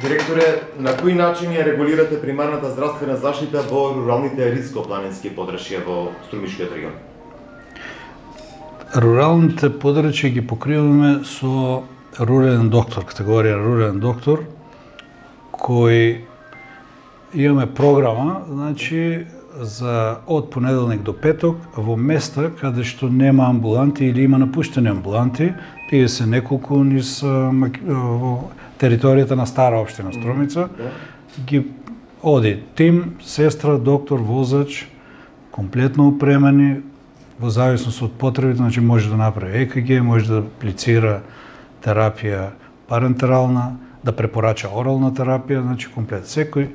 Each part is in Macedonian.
Директоре, на кој начин ја регулирате примарната здравствена заштита во руралните ридско-планински подрачја во Струмишкиот регион? Руралните подрачја ги покриваме со рурален доктор, категорија рурален доктор, кој имаме програма, значи, за од понеделник до петок во места каде што нема амбуланти или има напуштени амбуланти, тие се неколку низ во територијата на Стара општина Струмица, ги оди тим, сестра, доктор, возач, комплетно опремени, во зависност од потребите, значи може да направи ЕКГ, може да аплицира терапија парентерална, да препорача орална терапија, значи комплет. Секој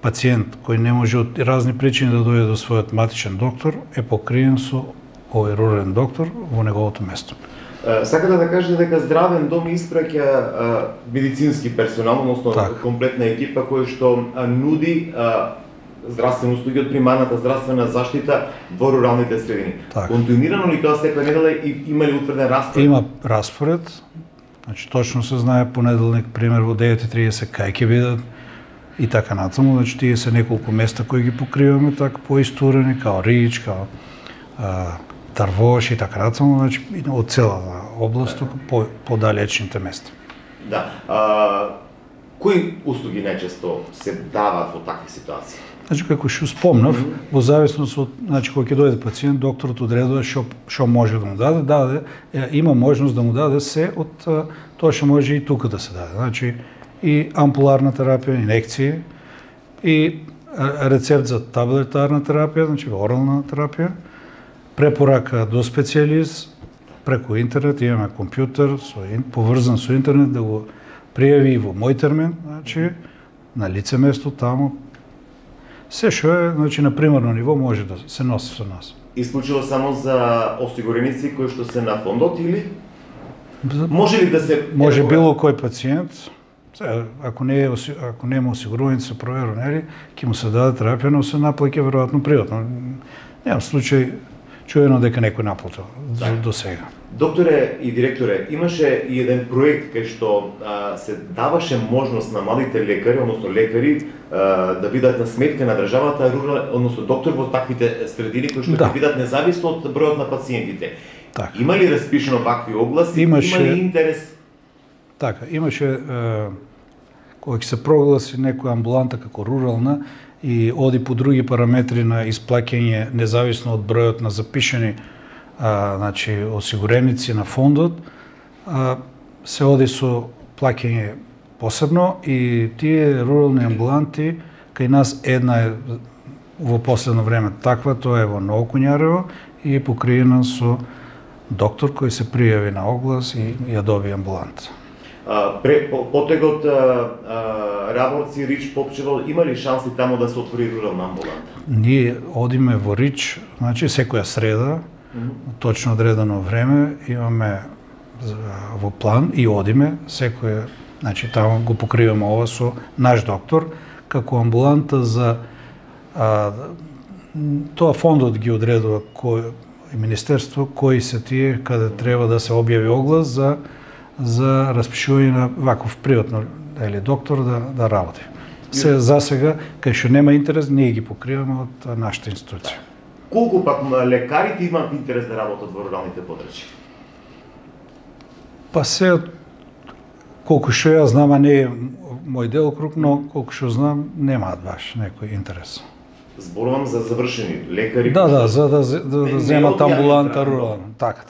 пациент кој не може од разни причини да дојде до својот матичен доктор е покриен со овој рурален доктор во неговото место. Сакате да кажете дека здравен дом испраќа медицински персонал, односно комплетна екипа која што нуди здравствени услуги од примарната здравствена заштита во руралните средини. Континуирано ли тоа секоја недела и има ли утврден распоред? Има распоред. Значи точно се знае понеделник пример во 9:30 кај ќе бидат и така натаму, значи тие се неколку места кои ги покриваме така поистурени, као Рич, као Тарвош и така натаму, значи од целата област, подалечните места. Да. Кои услуги најчесто се даваат во такви ситуации? Значи, како што спомнав, во зависност од, значи, кога ќе дојде пациент, докторот одредува што може да му даде, има можност да му даде се од тоа што може и тука да се даде. Значи, и ампуларна терапија, инекции, и рецепт за таблетарна терапија, значи орална терапија, препорака до специјалист, преку интернет, имаме компјутер, поврзан со интернет, да го пријави и во мој термин, значи, на лице место таму. Се што е, значи, на примарно ниво може да се носи со нас. Исклучило само за осигуреници кои што се на фондот или? Може ли да се... Може било кој пациент, ако нема осигурување се проверени, ќе му се даде терапија, но се наплаќа веројатно приватно. Немам случај чуено дека некој наплатил до сега. Докторе и директоре, имаше и еден проект кај што се даваше можност на младите лекари, односно лекари, да бидат на сметка на државата, односно доктор во таквите средини кои што ќе бидат независно од бројот на пациентите. Има ли распишено вакви огласи? Има ли интерес? Така, имаше кога ќе се прогласи некоја амбуланта како рурална и оди по други параметри на исплаќање независно од бројот на запишани значи осигуреници на фондот, се оди со плаќање посебно и тие рурални амбуланти кај нас една е во последно време таква, тоа е во Ново Куњарево и покриена со доктор кој се пријави на оглас и ја доби амбуланта. Потегот Раборци, Рич, Попчево, има ли шанси таму да се отвори рурална амбуланта? Ние одиме во Рич, значи секоја среда, точно одредено време, имаме во план и одиме секоја, значи таму го покриваме ова со наш доктор, како амбуланта за тоа фондот ги одредува и министерство кои се тие каде треба да се објави оглас за распишување на ваков приватно или доктор да работи. Се за сега, кај што нема интерес, ние ги покриваме од нашата институција. Колку пак лекарите имаат интерес да работат во руралните подрачја? Па се, колку што ја знам, а не е мој делокруг, но колку што знам, немаат баш некој интерес. Зборувам за завршени лекари. Да, за да земат амбуланта рурална. Така.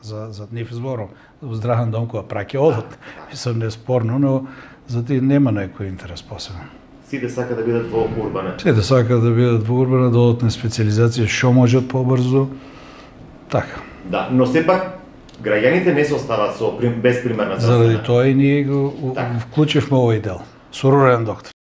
За нив зборувам. Здравен дом која праќа одат. Мислам неспорно, но за тие нема некој интерес посебен. Сите сака да бидат во урбана. Сите сака да бидат во урбана, да одат на специализација што можат побрзо. Така. Да, но сепак граѓаните не се оставаат без примарна здравствена. Заради тоа и ние го вклучивме овој дел со рурален доктор.